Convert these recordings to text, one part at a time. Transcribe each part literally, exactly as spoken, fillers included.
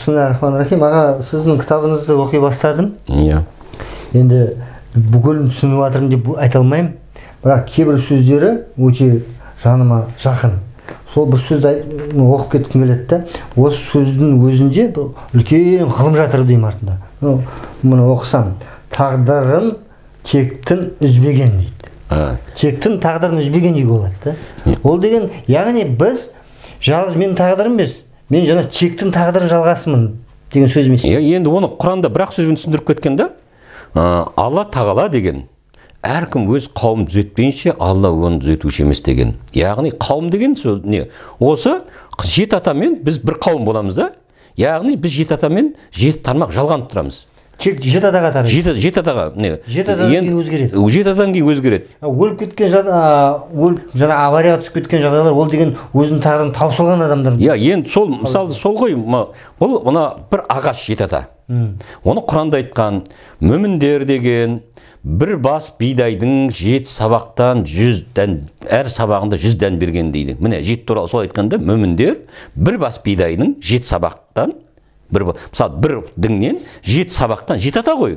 Бисмиллахиррахманиррахим. Аға, сіздің кітабыңызды оқи бастадым. Иә. Енді бүкілін түсініп жатырмын деп айта алмаймын. Бірақ кейбір сөздері өте жаныма жақын. Сол бір сөзді оқып кеткім келеді. Осы сөздің өзінде үлкен ғылым жатыр деймін артында. Мұны оқысам, тағдырын тектін үзбеген дейді. Тектін тағдырын үзбеген дейді болады. Ол деген, яғни біз жалғыз менің тағдырым емес, мен жаңа тектін тағдырын жалғасымын деген сөз емес. Енді оны Құранда бір-ақ сөзбен түсіндіріп кеткен да. Алла Тағала деген әркім өз қауым түзетпейінше Алла оны түзетуші емес деген. Яғни қауым деген не? Осы жеті атамен біз бір қауым боламыз да. Яғни біз жеті атамен жеті тармақ жалғанып тұрамыз. Тек жеті атаға тарайды. Жеті, жеті атаға не? Жеті атадан кейін өзгереді. Жеті атадан кейін өзгереді. Өліп кеткен өліп жаңа аварияға түсіп кеткен жағдайлар, ол деген өзінің тағдырын таусылған адамдар. Иә, енді сол мысалы сол ғой, бұл мына бір ағаш жеті ата. Оны Құранда айтқан, мүміндер деген бір бас бидайдың жеті сабақтан жүз дән, әр сабағында жүз дән берген дейді. Міне жеті туралы сол айтқанда, мүміндер бір бас бидайдың жеті сабақтан, мысалы бір діңнен жеті сабақтан жеті ата ғой.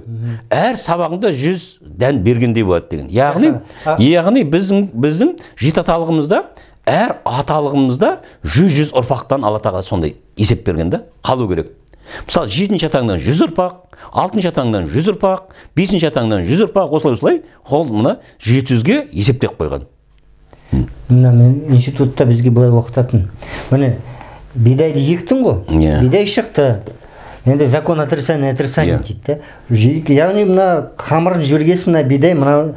Әр сабағында жүз дән бергендей болады деген. Яғни, яғни біздің біздің жеті аталығымызда, әр аталығымызда жүз-жүз ұрпақтан Алла Тағала сондай есеп берген да, қалу керек. Мысалы, жетінші атаңдан жүз ұрпақ, алтыншы атаңдан жүз ұрпақ, бесінші атаңдан жүз ұрпақ, осылай-осылай, ол мұна жеті жүзге есептеп қойған. Мына мен институтта бізге былай оқытатын. Міне, бидайды ектің ғой, бидай шықты. Енді закон отрицания отрицания дейді. Яғни мына қамырын жібергесін, мына бидай, мына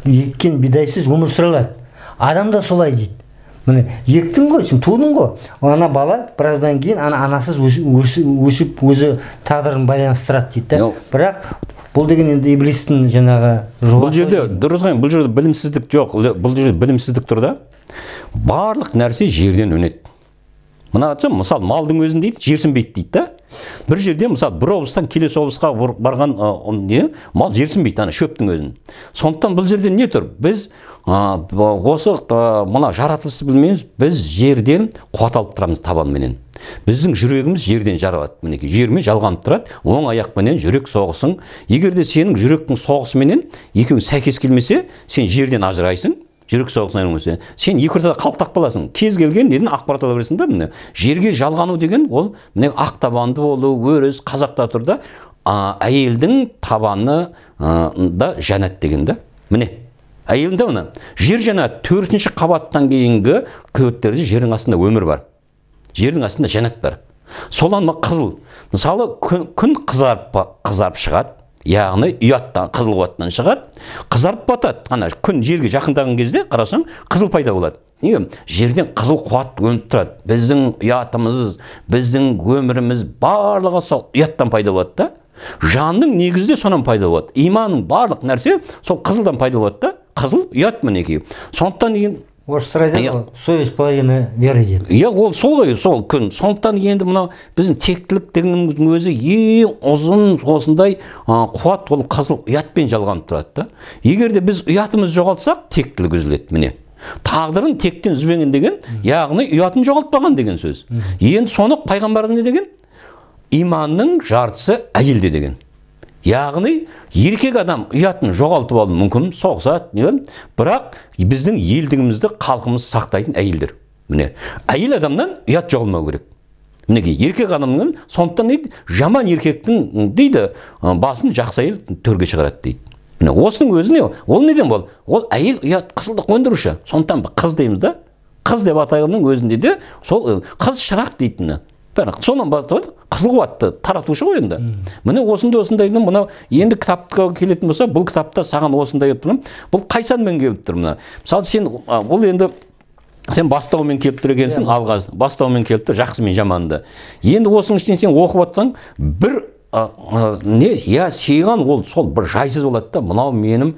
еккен бидайсыз өмір сүре алады. Адам да солай дейді. Міне, ектің ғой, сен тудың ғой. Ана бала біраздан кейін ана анасыз өсіп өзі тағдырын байланыстырады дейді. Бірақ бұл деген енді иблистің жаңағы жолы. Бұл жерде дұрыс ғой, бұл жерде білімсіздік жоқ. Бұл жерде білімсіздік тұр да. Барлық нәрсе жерден өнеді. Мына айтсам, мысалы, малдың өзін дейді, жерсінбейді дейді да. Бір жерде, мысалы, бір облыстан келесі облысқа барған не, мал жерсінбейді, ана шөптің өзін. Сондықтан бұл жерде не тұр? Біз осы мына жаратылысты білмейміз, біз жерден қуат алып тұрамыз табанменен. Біздің жүрегіміз жерден жаралады. Мінекей, жермен жалғанып тұрады, оң аяқпенен жүрек соғысың. Егер де сенің жүректің соғысыменен екеуің сәйкес келмесе, сен жерден ажырайсың. Жүрек соғысынан өмірсе, сен екі ортада қалтақ қаласың. Кез келген неден ақпарат ала бересің да, міне. Жерге жалғану деген ол міне ақ табанды болу, өріс, қазақта тұр да, әйелдің табаны да жәннат деген да. Міне. Әйелінде мына жер жәннат төртінші қабаттан кейінгі көбеттерде жердің астында өмір бар. Жердің астында жәннат бар. Солан қызыл. Мысалы, күн қызарып қызарып шығады. Яғни ұяттан, қызыл қуаттан шығады, қызарып батады. Қана күн жерге жақындаған кезде қарасаң, қызыл пайда болады. Неге? Жерден қызыл қуат өніп тұрады. Біздің ұятымыз, біздің өміріміз барлығы сол ұяттан пайда болады да. Жанның негізде сонан пайда болады. Иманның барлық нәрсе сол қызылдан пайда болады да. Қызыл ұят мінекей. Сондықтан деген орыстар айтады, совесть половина веры дейді. Иә, ол сол ғой, сол күн. Сондықтан енді мынау біздің тектілік дегеннің өзі ең ұзын осындай қуат, ол қызыл ұятпен жалғанып тұрады да. Егер де біз ұятымыз жоғалтсақ, тектілік үзіледі, міне. Тағдырын тектен үзбеген деген, яғни ұятын жоғалтпаған деген сөз. Енді соны пайғамбар не деген? Иманның жартысы әйелде деген. Яғни, еркек адам ұятын жоғалтып алуы мүмкін, соғысады, бірақ біздің елдігімізді халқымыз сақтайтын әйелдер. Міне, әйел адамнан ұят жоғалмау керек. Мінекей, еркек адамның, сондықтан дейді, жаман еркектің дейді, басын жақсы әйел төрге шығарады дейді. Міне, осының өзі не? Ол неден бол? Ол әйел ұят қызылдық өндіруші. Сондықтан қыз дейміз да. Қыз деп атайының өзінде де сол қыз шырақ дейтіні. Сонан бастап қызыл қуатты таратушы ғой енді. Міне осындай осындайдың мынау енді кітапқа келетін болса, бұл кітапта саған осындай тұрмын. Бұл қайсанмен келіп тұр мына. Мысалы сен бұл енді сен бастаумен келіп тұр екенсің, алғаш бастаумен келіп тұр, жақсы мен жаманды. Енді осының ішінен сен оқып отырсаң, бір не, я сыйған ол сол бір жайсыз болады да, мынау менің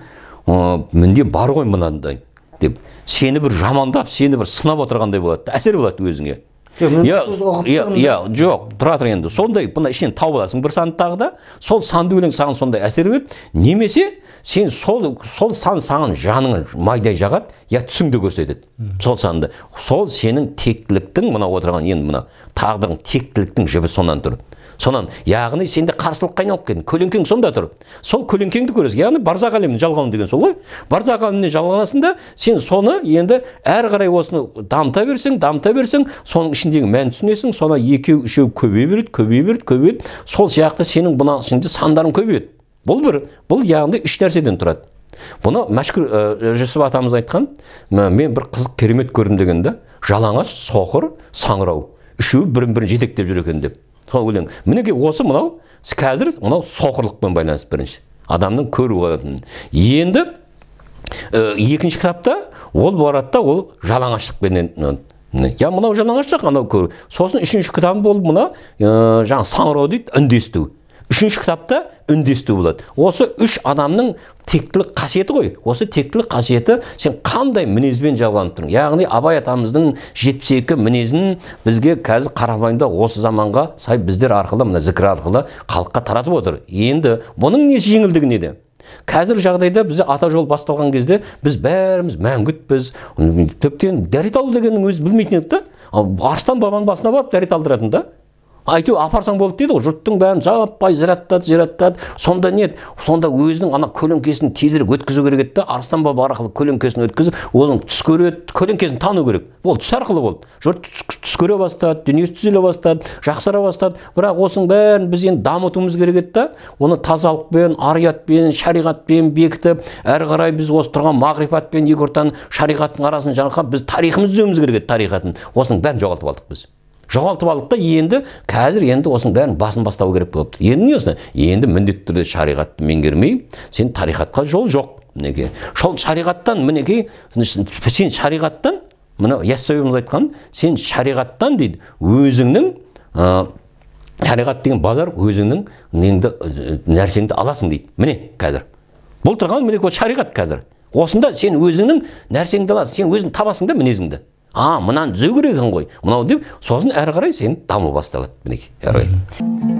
менде бар ғой мынандай деп. Сені бір жамандап, сені бір сынап отырғандай болады, әсер болады өзіңе. иә жоқ тұра тұр енді сондай бұны ішінен тауып аласың бір санды тағы да сол санды өлең саған сондай әсер береді немесе сен сол сол сан саған жаныңы майдай жағады я түсіңді көрсетеді сол санды сол сенің тектіліктің мына отырған енді мына тағдырың тектіліктің жібі сонан тұр сонан яғни сенде қарсылыққа айналып кеткен көлеңкең сонда тұр сол көлеңкеңді көресің яғни барзақ әлемін жалғауын деген сол ғой барзақ әлеміне жалғанасың да сен соны енді әрі қарай осыны дамыта берсең дамыта берсең соның ішіндегі мәнін түсінесің соны екеу үшеу көбейе береді көбейе береді көбейеді сол сияқты сенің мына ішінде сандарың көбейеді бұл бір бұл яғни үш нәрседен тұрады бұны Мәшһүр Жүсіп атамыз айтқан мен бір қызық керемет көрдім дегенде жалаңаш соқыр саңырау үшеуі бірін бірін жетектеп жүр екен деп сол өлең мінекей осы мынау қазір мынау соқырлықпен байланысты бірінші адамның көру қылатын енді екінші кітапта ол барады да ол жалаңаштықпенен я мынау жалаңаштық анау көру сосын үшінші кітабы болып мына жаңағы саңырау дейді үндесту үшінші кітапта үндесту болады осы үш адамның тектілік қасиеті ғой осы тектілік қасиеті сен қандай мінезбен жалғанып тұрсың яғни Абай атамыздың жетпіс екі мінезін бізге қазір қарапайымда осы заманға сай біздер арқылы мына зікір арқылы халыққа таратып отыр енді бұның несі жеңілдігі неде қазір жағдайда бізде ата жол басталған кезде біз бәріміз мәңгүтпіз тіптен дәрет алу дегеннің өзі білмейтін едік та арыстан бабаның басына барып дәрет алдыратын да айту апарсаң болды дейді ғой жұрттың бәрін жаппай зираттады зираттады сонда не сонда өзінің ана көлеңкесін тезірек өткізу керек еді да арыстан баба арқылы көлеңкесін өткізіп оның түс көреді көлеңкесін тану керек ол түс арқылы болды жұрт түс көре бастады дүниесі түзеле бастады жақсара бастады бірақ осының бәрін біз енді дамытуымыз керек еді да оны тазалықпен ариятпен шариғатпен бекітіп әрі қарай біз осы тұрған мағрифатпен екі ортаның шариғаттың арасын жарқап біз тарихымызды түзеуіміз керек еді тарихатын осының бәрін жоғалтып алдық біз жоғалтып алдық та енді қазір енді осының бәрін басын бастау керек болыпты енді не осы енді міндетті түрде шариғатты меңгермей сен тарихатқа жол жоқ мінекей сол шариғаттан мінекей сен шариғаттан мына Яссауиіміз айтқан сен шариғаттан дейді өзіңнің шариғат деген базар өзіңнің неңді нәрсеңді аласың дейді міне қазір бұл тұрған міне шариғат қазір осында сен өзіңнің нәрсеңді аласың сен өзің табасың да мінезіңді а мынаны түзеу керек екен ғой мынау деп сосын әрі қарай сен даму басталады мінекей әрі қарай